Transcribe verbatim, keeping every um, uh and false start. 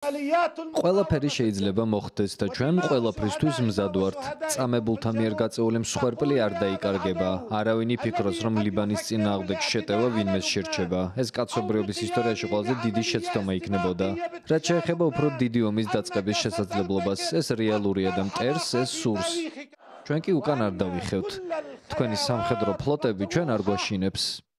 ყველაფერი შეიძლება მოხდეს და ჩვენ ყველაფრისთვის მზად ვართ. წამებულთა მიერ გაწეული მსხვერპლი არ დაიკარგება. არავინ იფიქროს, რომ ლიბანის წინააღმდეგ შეტევა ვინმეს შერჩება. ეს კაცობრიობის ისტორიაში ყველაზე დიდი შეცდომა იქნებოდა. რაც შეეხება უფრო დიდი ომის დაწყების შესაძლებლობას, ეს რეალურია და მტერს ეს სურს. ჩვენ კი უკან არ დავიხევთ. თქვენი სამხედრო ფლოტები ჩვენ არ გვაშინებს.